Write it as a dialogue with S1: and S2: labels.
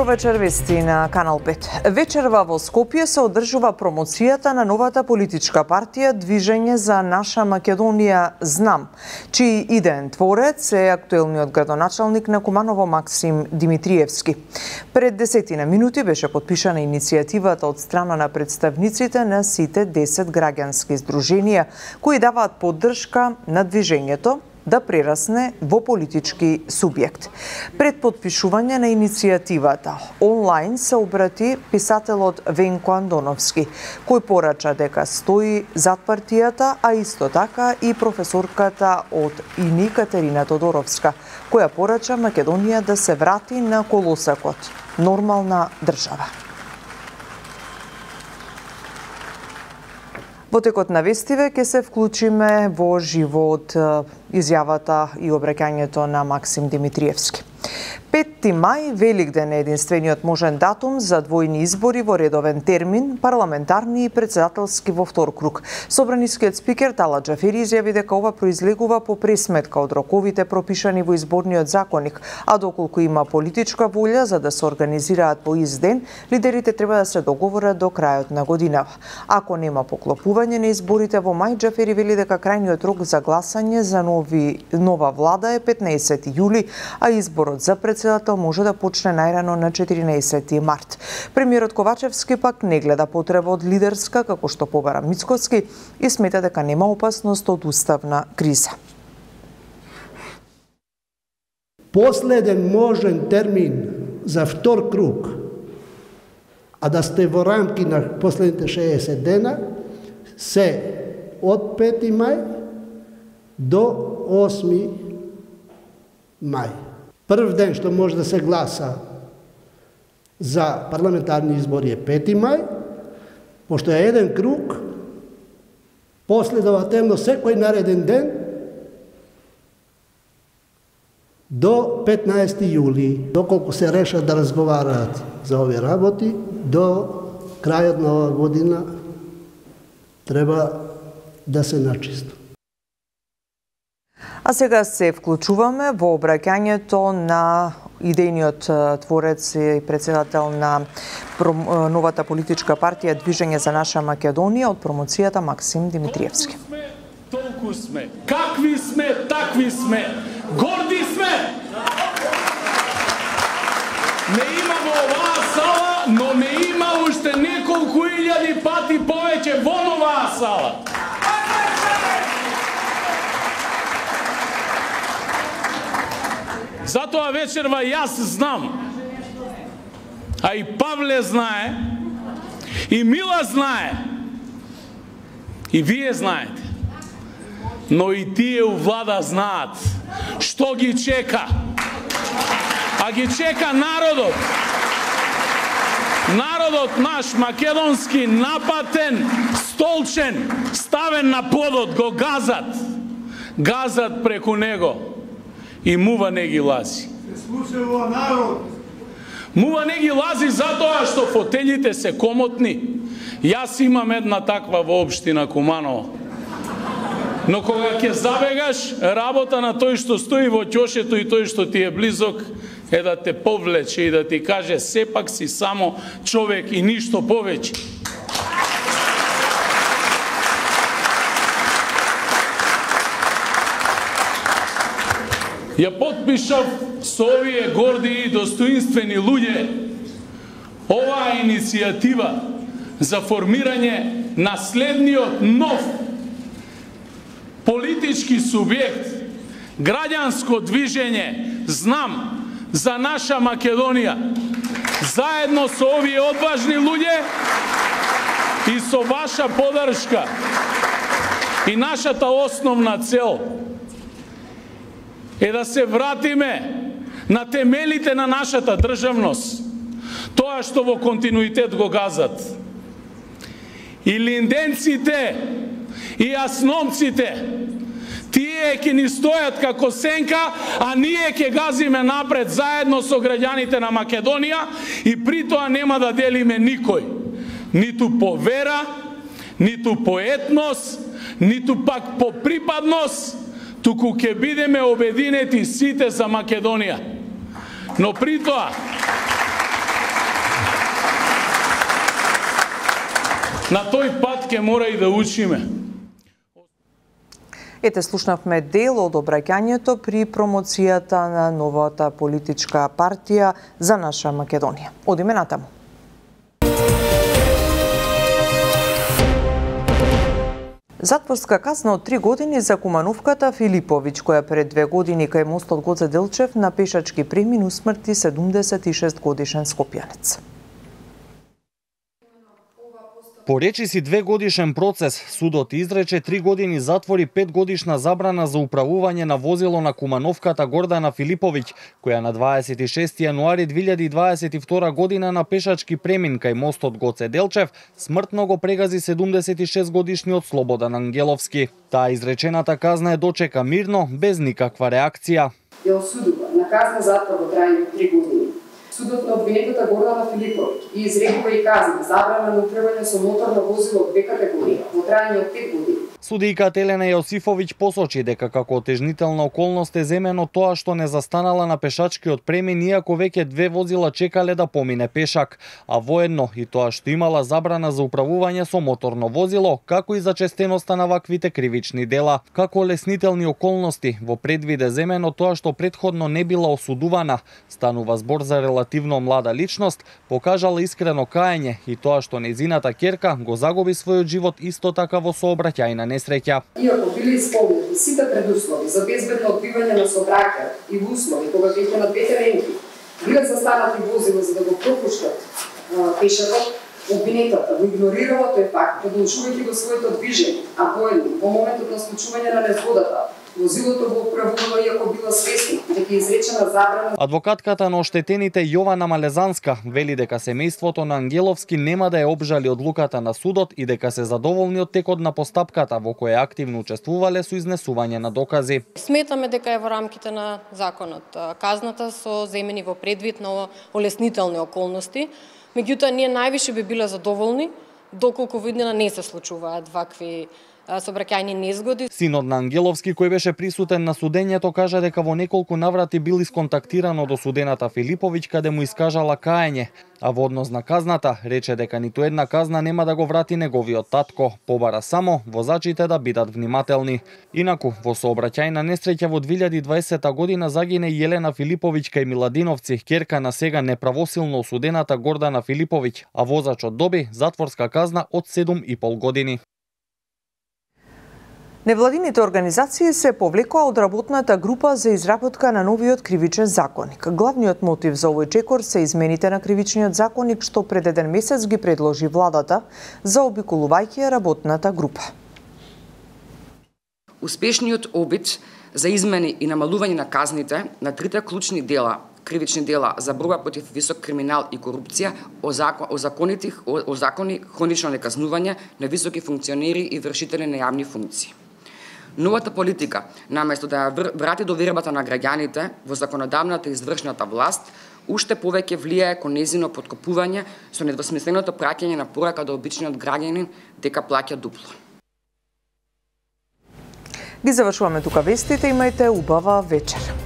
S1: Добро вечер, вести на Канал 5. Вечерва во Скопје се одржува промоцијата на новата политичка партија Движење за наша Македонија ЗНАМ, чиј идеен творец е актуелниот градоначалник на Куманово Максим Димитриевски. Пред 10 минути беше подпишана иницијативата од страна на представниците на сите 10 граѓански здруженија кои даваат поддршка на движењето да прерасне во политички субјект. Пред подпишување на иницијативата, онлайн се обрати писателот Венко Андоновски, кој порача дека стои зад партијата, а исто така и професорката од ИНИ Катерина Тодоровска, која порача Македонија да се врати на колосекот нормална држава. Во текот на вестиве ќе се вклучиме во живот изјавата и обраќањето на Максим Димитриевски. 5 мај, Великден е единствениот можен датум за двојни избори во редовен термин, парламентарни и председателски во втор круг. Собранискиот спикер Тала Џафери изјави дека ова произлегува по пресметка од роковите пропишани во изборниот законник, а доколку има политичка волја за да се организираат по ист ден, лидерите треба да се договорат до крајот на годинава. Ако нема поклопување на изборите во мај, Џафери вели дека крајниот рок за гласање за нова влада е 15 јули, а изборот за председател може да почне најрано на 14 март. Премиерот Ковачевски пак не гледа потреба од лидерска, како што побара Мицкоски, и смета дека нема опасност од уставна криза.
S2: Последен можен термин за втор круг, а да сте во рамки на последните 60 дена, се од 5 мај до 8 мај. Прв ден што може да се гласа за парламентарни избори е 5 мај, пошто е еден круг, последователно секој нареден ден до 15 јули. Доколку се решат да разговараат за овие работи, до крајот на оваа година треба да се начисто.
S1: А сега се вклучуваме во обраќањето на идејниот творец и председател на новата политичка партија Движење за наша Македонија од промоцијата Максим Димитриевски.
S3: Толку сме, какви сме, такви сме, горди сме! Не има во оваа сала, но не има уште неколку илјади пати повеќе во оваа сала. Затоа вечерва јас знам, а и Павле знае, и Мила знае, и вие знаете, но и тие у влада знаат што ги чека. А ги чека народот. Народот наш македонски напатен, столчен, ставен на подот, го газат. Газат преку него. И мува не ги лази. Мува не ги лази затоа што фотелите се комотни. Јас имам една таква во општина Куманово. Но кога ќе забегаш, работа на тој што стои во ќошето и тој што ти е близок е да те повлече и да ти каже сепак си само човек и ништо повеќе. Ја потпишав со овие горди и достоинствени луѓе оваа иницијатива за формирање на следниот нов политички субјект, граѓанско движење ЗНАМ за наша Македонија. Заедно со овие одважни луѓе и со ваша поддршка и нашата основна цел е да се вратиме на темелите на нашата државност, тоа што во континуитет го газат. И линденците, и јасномците, тие ќе ни стојат како сенка, а ние ќе газиме напред заедно со граѓаните на Македонија и при тоа нема да делиме никој. Ниту по вера, ниту по етнос, ниту пак по припадност, туку ќе бидеме обединети сите за Македонија. Но при тоа На тој пат ќе мора и да учиме.
S1: Ете, слушнавме дел од обраќањето при промоцијата на новата политичка партија За наша Македонија. Одиме натаму. Затворска казна од 3 години за Кумановката Филиповиќ, која пред 2 години кај мостот Гоце Делчев на пешачки премин усмрти 76 годишен скопјанец.
S4: По речиси 2-годишен процес, судот изрече 3 години затвор и 5 годишна забрана за управување на возило на Кумановката Гордана Филиповиќ, која на 26 јануари 2022 година на пешачки премин кај мостот Гоце Делчев смртно го прегази 76 годишниот Слободан Ангеловски. Таа изречената казна е дочека мирно, без никаква реакција.
S5: Ја осудува на казна затвор во траење 3 години. Судот на обвинетата Гордана Филиповиќ и изрекува и казна забрана на управување со моторно возило од 2 категории во траење од 5 години.
S4: Судијката Елена Јосифовиќ посочи дека како отежнителна околност е земено тоа што не застанала на пешачкиот премин иако веќе 2 возила чекале да помине пешак, а воедно и тоа што имала забрана за управување со моторно возило, како и за честеноста на ваквите кривични дела. Како леснителни околности во предвид е земено тоа што претходно не била осудувана, станува збор за релативно млада личност, покажала искрено каење и тоа што нејзината ќерка го загуби својот живот исто така во сообраќајна несреќа.
S5: Иако били исполнети сите предуслови за безбедно одбивање на сообраќајот и во услови кога веќе на двете ренки биле застанати возила за да го пропуштат пешакот, обвинетата го игнорирала тој факт, продолжувајќи го своето движење, а воедно во моментот на случување на незгодата возилото го управувала иако била свесна дека изречена забрана.
S4: Адвокатката на оштетените Јована Малезанска вели дека семејството на Ангеловски нема да ја обжали одлуката на судот и дека се задоволни од текот на постапката во која активно учествувале со изнесување на докази.
S6: Сметаме дека е во рамките на законот. Казната со земени во предвид на олеснителни околности, меѓутоа ние највише би биле задоволни доколку во иднина не се случуваат вакви сообраќајни незгоди.
S4: Синот на Ангеловски, кој беше присутен на судењето, кажа дека во неколку наврати бил исконтактиран од осудената Филиповиќ каде му искажала каење, а во однос на казната рече дека ниту една казна нема да го врати неговиот татко, побара само возачите да бидат внимателни. Инаку, во сообраќајна несреќа во 2020 година загине Јелена Филиповиќ кај Миладиновци, ќерка на сега неправосилно осудената Гордана Филиповиќ, а возачот доби затворска казна од 7,5 години.
S1: Невладините организации се повлекоа од работната група за изработка на новиот кривичен законник. Главниот мотив за овој чекор се измените на кривичниот законник што пред 1 месец ги предложи владата, заобиколувајќи работната група.
S7: Успешниот обид за измени и намалување на казните на трите клучни дела, кривични дела за борба против висок криминал и корупција, озакони хронично неказнување на високи функционери и вршители на јавни функции. Новата политика, наместо да ја врати довербата на граѓаните во законодавната и извршната власт, уште повеќе влијае кон нејзино поткопување со недвосмисленото праќање на порака до обичниот граѓанин дека плаќа дупло.
S1: Ги завршуваме тука вестите, имајте убава вечер.